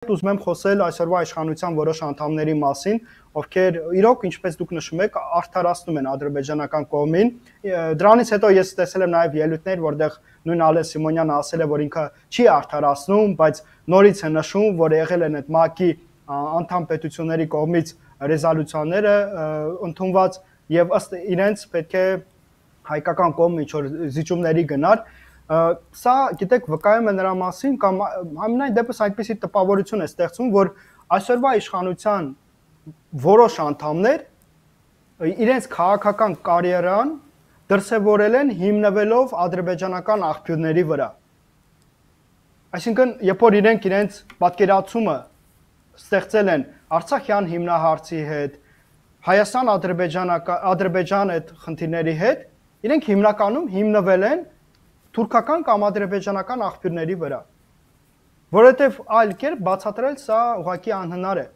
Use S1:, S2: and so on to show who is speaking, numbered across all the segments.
S1: ուզում եմ խոսել այսօրվա իշխանության որոշ անդամների մասին, ովքեր իրոք, ինչպես դուք նշում եք, արդարացնում են ադրբեջանական կողմին։ Դրանից հետո ես տեսել եմ նաև ելույթներ, որտեղ նույն Ալեն Սիմոնյանը ասել է, որ ինքը չի արդարացնում, բայց նորից է նշում, որ եղել են այդ ՄԱԿ-ի անդամ պետությունների կողմից ռեզոլյուցիաները ընդունված եւ ըստ իրենց պետք է հայկական կողմը ինչ որ զիջումների գնար։ Սա, գիտեք, վկայում է նրա մասին կամ համենայն դեպս այդպիսի տպավորություն է ստեղծում, որ այսօրվա իշխանության որոշ անդամներ իրենց քաղաքական կարիերան դրսևորել են հիմնվելով ադրբեջանական աղբյուրների վրա։ Այսինքն, երբ որ իրենց պատկերացումը ստեղծել են Արցախյան հիմնահարցի հետ, Հայաստան-Ադրբեջան այդ խնդիրների հետ, իրենք հիմնականում հիմնվել են թուրքական կամ ադրբեջանական աղբյուրների վրա, որովհետև այլ կերպ բացատրել սա ուղղակի անհնար է։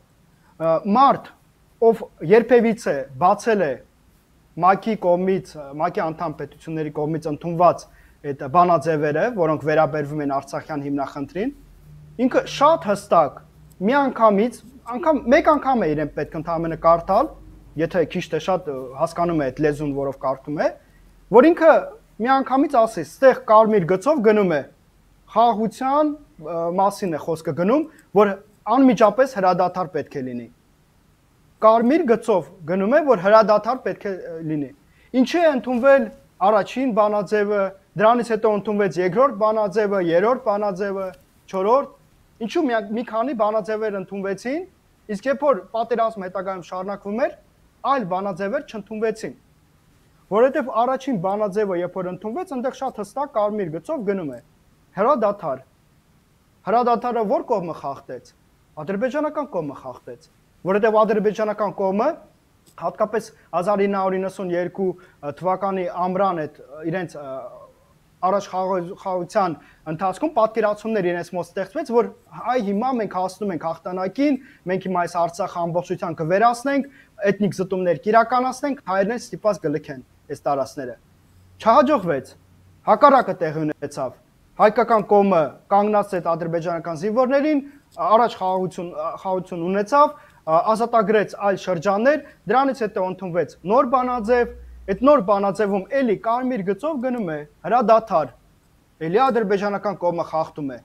S1: Մարդ, ով երբևիցե բացել է ՄԱԿ-ի կողմից, ՄԱԿ-ի անդամ պետությունների կողմից ընդունված այդ բանաձևերը, որոնք վերաբերվում են Արցախյան հիմնախնդրին, ինքը շատ հստակ միանգամից, մեկ անգամ է իրեն պետք ընդհանրապես կարդալ, եթե քիչ թե շատ հասկանում է այդ լեզուն, որով կարդում է, որ ինքը միանգամից ասի, ստեղ կարմիր գծով գնում է խաղաղության մասին է խոսքը գնում, որ անմիջապես հրադադար պետք է լինի։ Կարմիր գծով գնում է, որ հրադադար պետք է լինի։ Ինչի է ընդունվել առաջին բանաձևը, դրանից հետո ընդունվեց երկրորդ բանաձևը, երրորդ բանաձևը, չորրորդ, ինչու մի քանի բանաձևեր ընդունվեցին, իսկ երբ որ պատերազմը հետագայում շարունակվում էր, այլ բանաձևեր չընդունվեցին։ Որովհետև առաջին բանաձևը, երբ որ ընդունվեց, այնտեղ շատ հստակ կարմիր գծով գնում է հրադադար։ Հրադադարը ո՞ր կողմը խախտեց։ Ադրբեջանական կողմը խախտեց, որովհետև ադրբեջանական կողմը հատկապես 1992 թվականի ամռան այդ իրենց առաջ խաղաղության ընթացքում պատկերացումներ իրենց մոտ ստեղծվեց, որ այ հիմա մենք հասնում ենք հաղթանակին, մենք հիմա այս Արցախը ամբողջությամբ կվերացնենք, էթնիկ զտումներ կիրականացնենք, հայերեն ստիպված կլքեն այս տարածքները։ Չհաջողվեց, հակառակը տեղի ունեցավ։ Հայկական կողմը կանգնած այդ ադրբեջանական զինվորներին, առաջ խաղաղություն ունեցավ, ազատագրեց այլ շրջաններ, դրանից հետո ընդունվեց նոր բանաձև, այդ նոր բանաձևում էլի կարմիր գծով գնում է հրադադար, էլի ադրբեջանական կողմը խախտում է։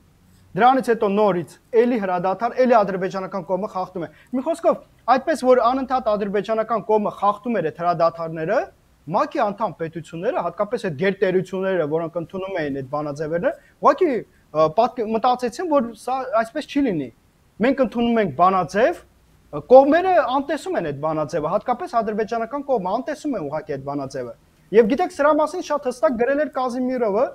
S1: Դրանից հետո նորից էլի հրադադար, էլի ադրբեջանական կողմը խախտում է։ Մի խոսքով, այդպես որ անընդհատ ադրբեջանական կողմը խախտում էր այդ հրադադարները, ՄԱԿ-ի անդամ պետությունները, հատկապես այդ գերտերությունները, որոնք ընդունում էին այդ բանաձևերը, ուղղակի մտածեցին, որ սա այսպես չի լինի։ Մենք ընդունում ենք բանաձև, կողմերը անտեսում են այդ բանաձևը, հատկապես ադրբեջանական կողմը անտեսում է ուղղակի այդ բանաձևը։ Եվ գիտեք, սրա մասին շատ հստակ գրել էր Կազիմիրովը,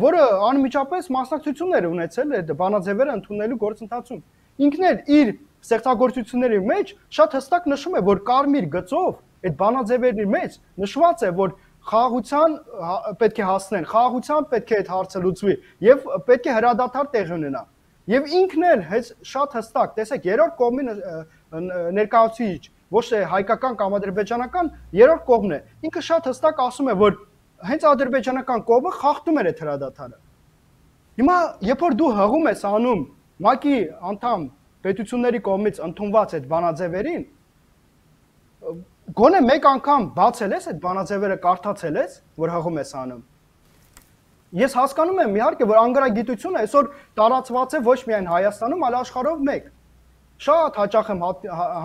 S1: որը անմիջապես մասնակցություններ ունեցել այդ բանաձևերը ընդունելու գործընթացում։ Ինքն էլ իր ստեղծագործությունների մեջ շատ հստակ նշում է, որ կարմիր գծով այդ բանաձևերի մեջ նշված է, որ խաղաղության պետք է հասնեն, խաղաղության պետք է այդ հարցը լուծվի եւ պետք է հրադադար տեղի ունենա։ Եվ ինքն էլ շատ հստակ, տեսեք, երրորդ կողմի ներկայացուցիչ, ոչ թե հայկական կամ ադրբեջանական, երրորդ կողմն է։ Ինքը շատ հստակ ասում է, որ հենց ադրբեջանական կողմը խախտում էր այդ հրադադարը։ Հիմա, երբ որ դու հղում ես անում ՄԱԿ-ի անդամ պետությունների կողմից ընդունված այդ բանաձևերին, գոնե մեկ անգամ բացել ես այդ բանաձևերը, կարդացել ես, որ հղում ես անում։ Ես հասկանում եմ, իհարկե, որ անգրագիտությունը այսօր տարածված է ոչ միայն Հայաստանում, այլ աշխարհով մեկ։ Շատ հաճախ եմ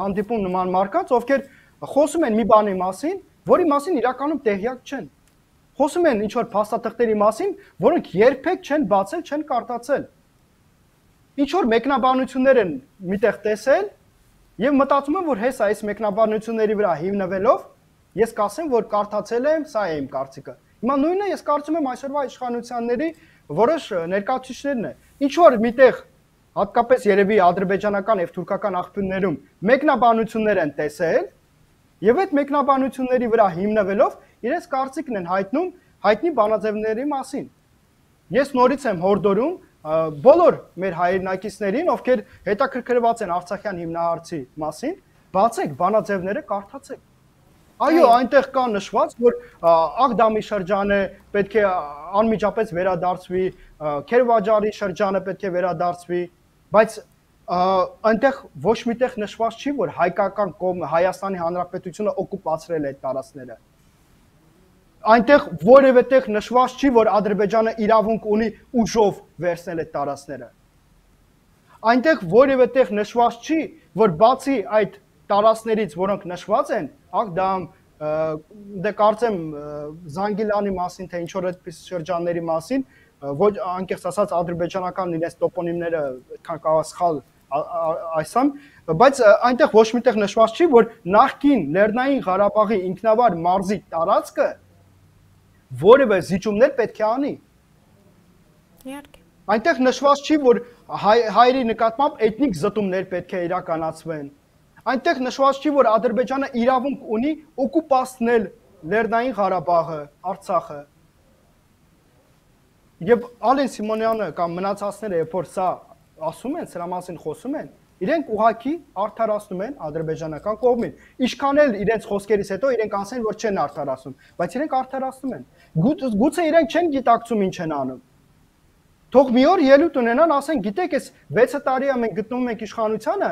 S1: հանդիպում նման մարդկանց, ովքեր խոսում են մի բանի մասին, որի մասին իրականում տեղյակ չեն։ Խոսում են ինչ-որ փաստաթղթերի մասին, որոնք երբեք չեն բացել, չեն կարդացել։ Ինչ-որ մեկնաբանություններ են միտեղ տեսել եւ մտածում եմ, որ հեսա այս մեկնաբանությունների վրա հիմնվելով ես կասեմ, որ կարդացել եմ, սա է իմ կարծիքը։ Հիմա նույնը ես կարծում եմ այսօրվա իշխանությունների որոշ ներկայացուցիչներն է։ Ինչ որ միտեղ հատկապես երևի ադրբեջանական եւ թուրքական աղբյուրներում մեկնաբանություններ են տեսել եւ այդ մեկնաբանությունների վրա հիմնվելով իրենց կարծիքն են հայտնում հայտնի բանաձևների մասին։ Ես նորից եմ հորդորում բոլոր մեր հայրենակիցներին, ովքեր հետաքրքրված են Արցախյան հիմնահարցի մասին, բացեք բանաձևները, կարդացեք։ Այո, այնտեղ կա նշված, որ Աղդամի շրջանը պետք է անմիջապես վերադարձվի, Քերվաջարի շրջանը պետք է վերադարձվի, բայց այնտեղ ոչ միտեղ նշված չի, որ հայկական կողմը Հայաստանի Հանրապետությունը օկուպացրել է այդ տարածքները։ Այնտեղ որևէ տեղ նշված չի, որ Ադրբեջանը իրավունք ունի ուժով վերցնել այդ տարածքները։ Այնտեղ որևէ տեղ նշված չի, որ բացի այդ տարածքներից, որոնք նշված են, դա դե կարծեմ Զանգիլանի մասին, թե ինչ որ այդպես շրջանների մասին, ոչ անկեղծ ասած ադրբեջանական իրենց տոպոնիմները այդքան կարող սխալ այսամ, բայց այնտեղ ոչ միտեղ նշված չի, որ նախկին Լեռնային Ղարաբաղի ինքնավար մարզի տարածքը որևէ զիջումներ պետք է անի։
S2: Իհարկե։
S1: Այնտեղ նշված չի, որ հայերի նկատմամբ էթնիկ զտումներ պետք է իրականացվեն։ Այնտեղ նշված չի, որ Ադրբեջանը իրավունք ունի օկուպացնել Լեռնային Ղարաբաղը, Արցախը։ Եվ Ալեն Սիմոնյանը կամ մնացածները, երբ որ սա ասում են, սրա մասին խոսում են, իրենք ուղղակի արդարացնում են ադրբեջանական կողմին։ Ինչքան էլ իրենց խոսքերից հետո իրենք ասեն, որ չեն արդարացնում, բայց իրենք արդարացնում են։ Գուցե իրենք չեն գիտակցում ինչ են անում։ Թող մի օր ելույթ ունենան, ասեն, գիտեք, այս 6 տարի է մենք գտնվում ենք իշխանությանը,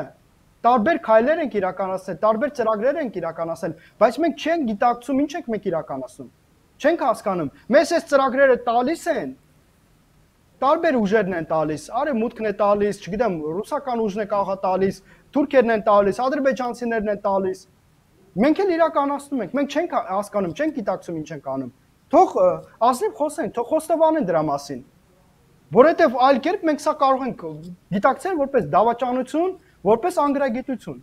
S1: տարբեր քայլեր ենք իրականացնել, տարբեր ծրագրեր ենք իրականացնել, բայց մենք չենք գիտակցում ինչ ենք մենք իրականացնում։ Չենք հասկանում։ Մեզ այս ծրագրերը տալիս են, տարբեր ուժերն են տալիս, արևմուտքն է տալիս, չգիտեմ, ռուսական ուժն է կարող տալիս, թուրքերն են տալիս, ադրբեջանցիներն են տալիս։ Մենք էլ իրականացնում ենք, մենք չենք հասկանում, չենք գիտակցում ինչ ենք անում։ Թող ազնիվ խոսեն, թող խոստովանեն դրա մասին։ Որովհետև այլ կերպ մենք սա կարող ենք գիտակցել որպես դավաճանություն, որպես անգրագիտություն։